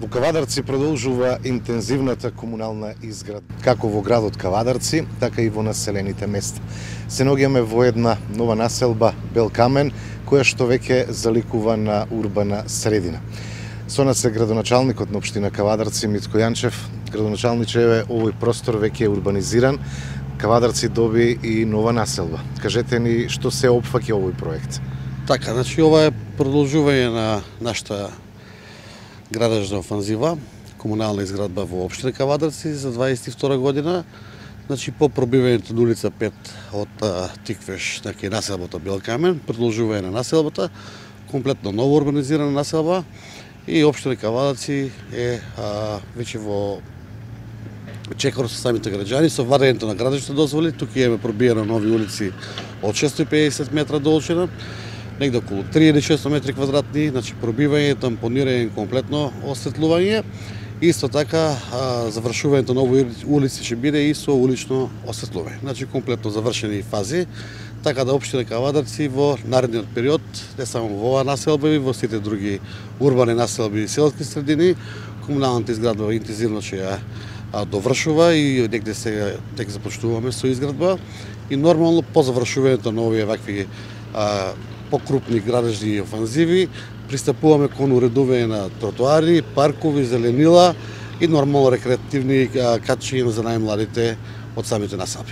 Во Кавадарци продолжува интензивната комунална изградба, како во градот Кавадарци, така и во населените места. Се наоѓаме во една нова населба Белкамен, која што веќе заликува на урбана средина. Со нас е градоначалникот на општина Кавадарци Митко Јанчев. Градоначалниче, овој простор веќе е урбанизиран. Кавадарци доби и нова населба. Кажете ни што се опфаќа овој проект. Така, значи ова е продолжување на нашата градежна офанзива, комунална изградба во општина Кавадарци за 22 година. Значи по пробивањето на улица 5 од Тиквеш, така и населбата Белкамен, продолжување на населбата, комплетно ново урбанизирана населба и општина Кавадарци е веќе во чекор со самите граѓани, со вадењето на градежните дозволи. Тука имаме пробиено нови улици од 650 метра должина, негде околу 3600 метри квадратни, значи пробивање, тампонирање, комплетно осветлување. Исто така, завршувањето на нови улици ќе биде и со улично осветлување. Значи комплетно завршени фази, така да општина Кавадарци во наредниот период, не само во оваа населба, и во сите други урбани населби и селски средини, комуналната изградба интензивно ќе ја довршува и негде сега тек започнуваме со изградба и нормално по завршувањето на овие вакви покрупни градежни офанзиви пристапуваме кон уредување на тротоари, паркови, зеленила и нормално рекреативни катчиња за најмладите од самите населби.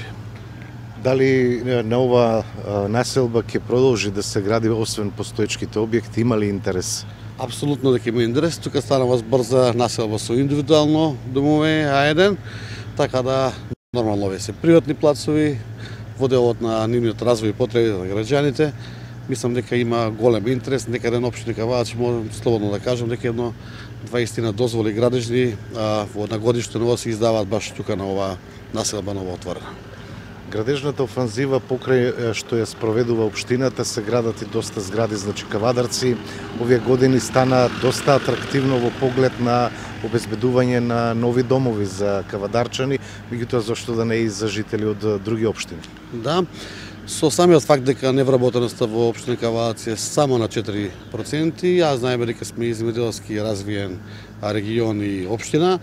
Дали на ова населба ќе продолжи да се гради освен постоечките објекти, има ли интерес? Апсолутно дека има интерес. Тука станува збор за населба со индивидуално домове А1, така да нормално овие се приватни плацови во делот на нивниот развој и потреби на граѓаните. Мислам дека има голем интерес, некаде на општина Кавадарци можам слободно да кажам дека едно 20 дозволи градежни во на годишно ниво се издаваат баш тука на ова населба новоотворена. Градежната офанзива покрај што ја спроведува општината се градат и доста згради, значи Кавадарци овие години стана доста атрактивно во поглед на обезбедување на нови домови за кавадарчани, меѓутоа зошто да не и за жители од други општини. Да, со самиот факт дека невработеноста во општина Кавадарци е само на 4%, јас знаеме дека сме земјоделски развиен регион и општина,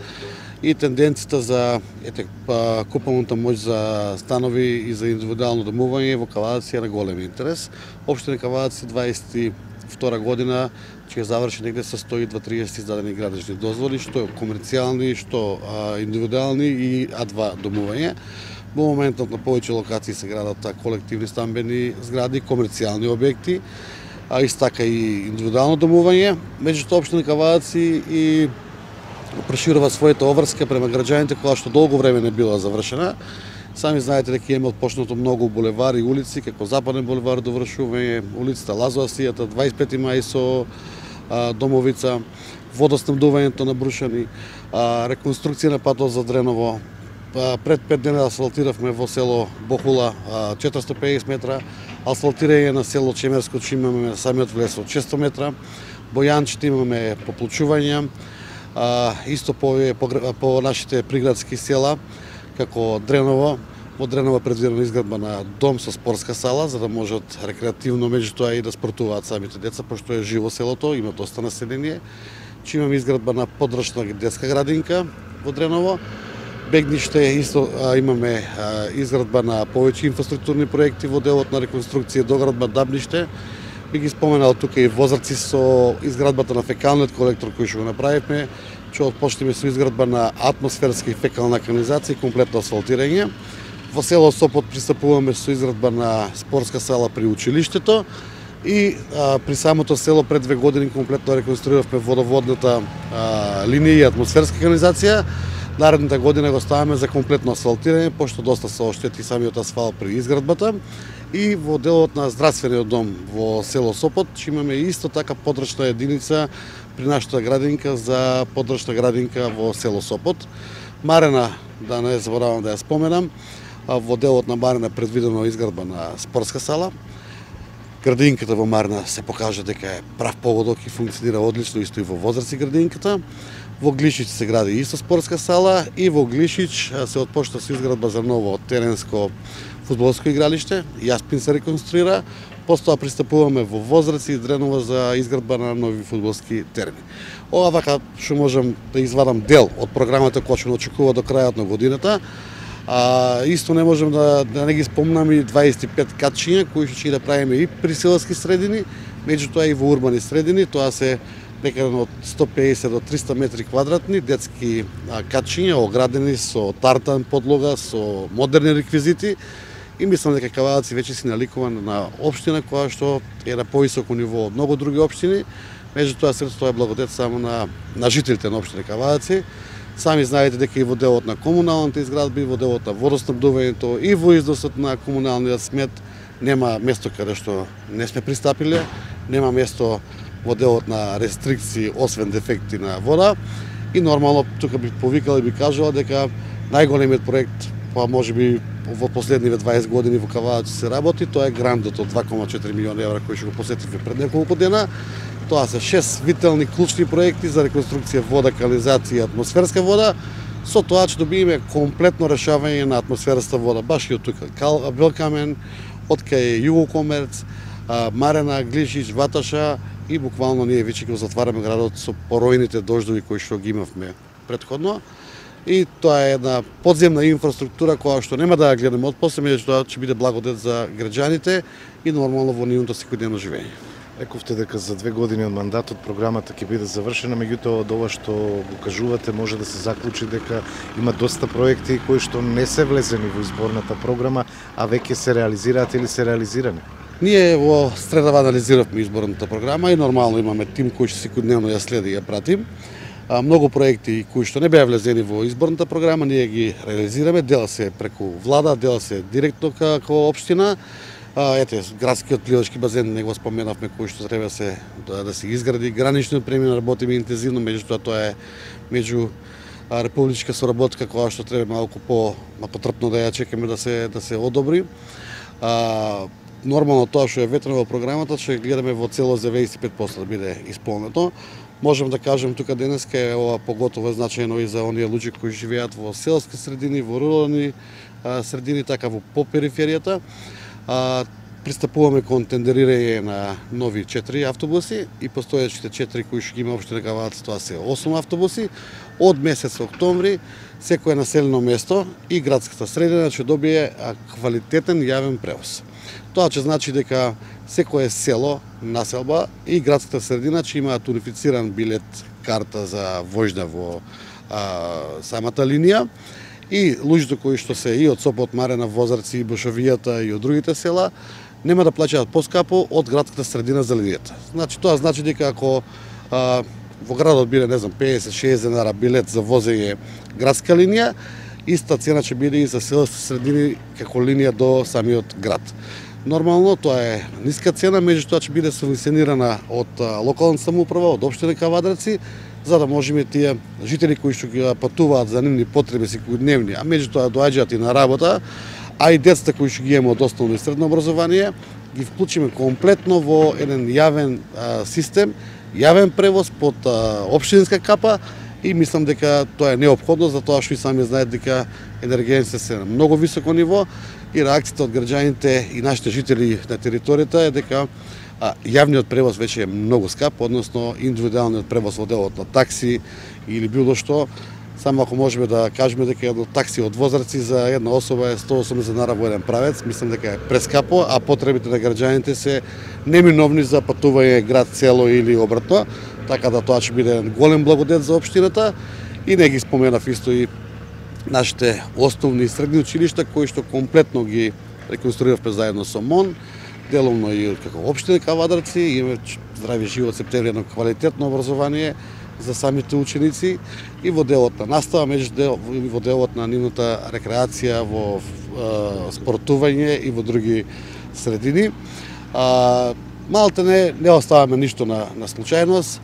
и тенденцијата за купуваната моќ за станови и за индивидуално домување во Кавадарци е на голем интерес. Општина Кавадарци 22 година ќе заврши негде со 130 издадени градежни дозволи, што комерцијални, што индивидуални и А2 домување. Во моментот на повеќе локации се градат колективни стамбени згради, комерцијални објекти, исто така и индивидуално домување. Меѓутоа општина Кавадарци и проширува својата обврска према граѓаните, која што долго време не била завршена. Сами знаете дека има отпочнато многу булевари и улици, како Западен булевар довршување, улицата Лазоасијата, 25 мај со домовица, водоснабдувањето на Брушани, реконструкција на патот за Дреново. Пред 5 дена асфалтиравме во село Бохула 450 метра, асфалтирање на село Чемерско, имаме на самиот влез од 600 метра, Бојанчите имаме поплучување, исто по нашите приградски села, како Дреново. Во Дреново предвидена изградба на дом со спортска сала, за да можат рекреативно меѓутоа и да спортуваат самите деца, пошто е живо селото, има доста население. Имаме изградба на подрачна детска градинка во Дреново. Бегниште исто имаме изградба на повеќе инфраструктурни проекти во делот на реконструкција доградба Дабниште. Би ги споменал тука и Возарци со изградбата на фекалниот колектор кој што го направивме, ќе отпочнеме со изградба на атмосферска и фекална канализација и комплетно асфалтирање. Во село Сопот пристапуваме со изградба на спортска сала при училиштето и при самото село пред 2 години комплетно реконструиравме водоводната линија и атмосферска канализација. Наредната година го ставаме за комплетно асфалтирање, пошто доста се оштети самиот асфалт при изградбата. И во делот на здравствениот дом во село Сопот имаме исто така подрачна единица при нашата градинка за подрачна градинка во село Сопот. Марена, да не заборавам да ја споменам, во делот на Марена предвидено изградба на спортска сала. Градинката во Марена се покажа дека е прав поводок и функционира одлично, исто и во Возарци градинката. Во Глишич се гради исто спортска сала и во Глишич се отпочна со изградба за ново теренско фудбалско игралиште. Јаспин се реконструира, постоја пристапуваме во Возрац и Дренова за изградба на нови фудбалски терени. Ова вака што можам да извадам дел од програмата која ќе очекува до крајот на годината. Исто не можем да не ги спомнам и 25 катчиња кои ќе да правиме и при селски средини, меѓутоа и во урбани средини. Тоа се некаде од 150 до 300 метри квадратни детски катчиња, оградени со тартан подлога, со модерни реквизити. И мислам дека Кавадаци веќе си наликуван на општина која што е на повисоко ниво од многу други општини. Меѓутоа средството е благодет само на жителите на општина Кавадаци. Сами знаете дека и во делот на комуналните изградби, во делот на водоснабдувањето и во износот на комуналниот смет нема место каде што не сме пристапиле, нема место во делот на рестрикции освен дефекти на вода. И нормално тука би повикала и би кажала дека најголемиот проект, па можеби во последниве 20 години во Кавадаци се работи, тоа е грандот од 2,4 милиони евра кој што го посетивме пред неколку дена. Тоа се 6 вителни клучни проекти за реконструкција вода, канализација и атмосферска вода, со тоа ќе добиеме комплетно решавање на атмосферната вода, баш и од тука. Белкамен, од кај Југокомерц, Марена, Глишич, Ваташа и буквално ние веќе го затвараме градот со поројните дождови кои што ги имавме претходно. И тоа е една подземна инфраструктура која што нема да ја гледаме отпосле, меѓутоа ќе биде благодет за граѓаните и нормално во нивното секојдневно живење. Рековте дека за 2 години од мандатот програмата ќе биде завршена, меѓутоа од ова што го кажувате може да се заклучи дека има доста проекти кои што не се влезени во изборната програма, а веќе се реализираат или се реализирани. Ние во средава анализиравме изборната програма и нормално имаме тим кој што секојдневно ја следи и ја пратим. Многу проекти кои што не беа влезени во изборната програма, ние ги реализираме, дел се преку влада, дел се директно како општина. Ете, градскиот пливачки базен не го споменавме, кој што треба да се изгради. Граничниот премин работиме интензивно, меѓутоа тоа е меѓу републичка соработка која што треба малку потрпно да ја чекаме да се одобри. Нормално тоа што е ветрено во програмата ќе гледаме во целост за 95% да биде исполнето. Можем да кажем тука денеска е ова поготово значајно и за оние луѓе кои живеат во селски средини, во рурални средини, така во периферијата. Пристапуваме кон тендерирање на нови 4 автобуси и постојачите 4 кои што ги има општина Кавадаци, тоа се 8 автобуси. Од месец октомври секое населено место и градската средина ќе добие квалитетен јавен превоз. Тоа ќе значи дека секое село, населба и градската средина ќе имаат унифициран билет, карта за војжда во самата линија. И луѓето кои што се и од Сопот, Марена, Возарци, Бошовијата и од другите села нема да плаќаат поскапо од градската средина за линијата. Значи тоа значи дека ако во градот биде, не знам, 50-60 денара билет за возење градска линија, иста цена ќе биде и за селски средини како линија до самиот град. Нормално тоа е ниска цена, меѓутоа ќе биде субвенционирана од локалната самоуправа, од општина Кавадарци, за да можеме тие жители кои што ги патуваат за нивни потреби секојдневни, а меѓутоа доаѓаат и на работа, а и децата кои што ги имаат од основно и средно образование, ги вклучиме комплетно во еден јавен систем, јавен превоз под општинска капа и мислам дека тоа е неопходно, затоа што и сами знаат дека енергијата се на многу високо ниво и реакцијата од граѓаните и нашите жители на територијата е дека јавниот превоз веќе е многу скап, односно индивидуалниот превоз во делот на такси или било што. Само ако можеме да кажеме дека едно такси од Возарци за една особа е 180 денара во еден правец, мислам дека е прескапо, а потребите на граѓаните се неминовни за патување град, село или обратно, така да тоа ќе биде голем благодет за општината. И не ги споменав исто и нашите основни и средни училишта кои што комплетно ги реконструиравме заедно со МОН, деловно и како општина Кавадарци, имаме здрави живот септември, едно квалитетно образование за самите ученици и во делот на настава, во делот на нивната рекреација, во спортување и во други средини. Малте не оставаме ништо на случајност,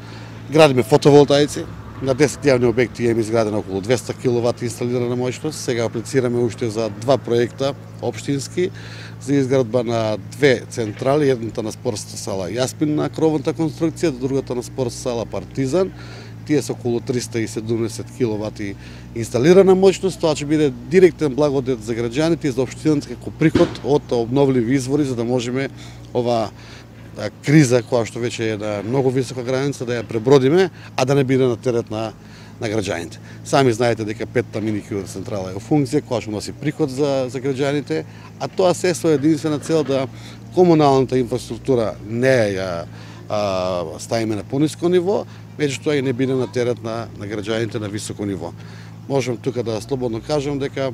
градиме фотоволтаици, на 10 јавни обекти имаме изградено околу 200 киловат инсталирана моќност. Сега аплицираме уште за 2 проекта општински за изградба на 2 централи, едната на спортската сала Јаспин на кровната конструкција, другата на спортската сала Партизан. тие се околу 370 киловати инсталирана моќност, тоа ќе биде директен благодет за граѓаните и за општината како приход од обновливи извори, за да можеме ова криза која што веќе е на многу висока граница да ја пребродиме, а да не биде на терет на граѓаните. Сами знаете дека 5-та мини хидроцентрала е во функција, која што носи приход за граѓаните, а тоа се со единствена цел да комуналната инфраструктура не ја ставиме на пониско ниво, меѓутоа и не биде на терет на граѓаните на високо ниво. Можам тука да слободно кажам дека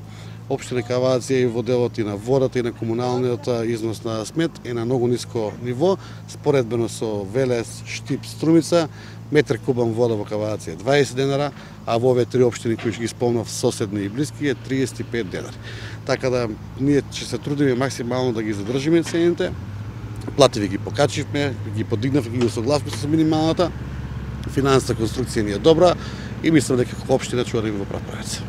општина Кавација и во делот и на водата и на комуналниот износ на смет е на многу ниско ниво, споредбено со Велес, Штип, Струмица, метар кубан вода во Кавација е 20 денари, а во овие три општини кои ги спомнав, соседни и блиски, е 35 денари. Така да ние ќе се трудиме максимално да ги задржиме цените. Плативи ги покачивме, ги подигнавме, ги усогласивме со минималната. Финансовата конструкција ни е добра и мислам дека како општина ќе одиме во прав правец.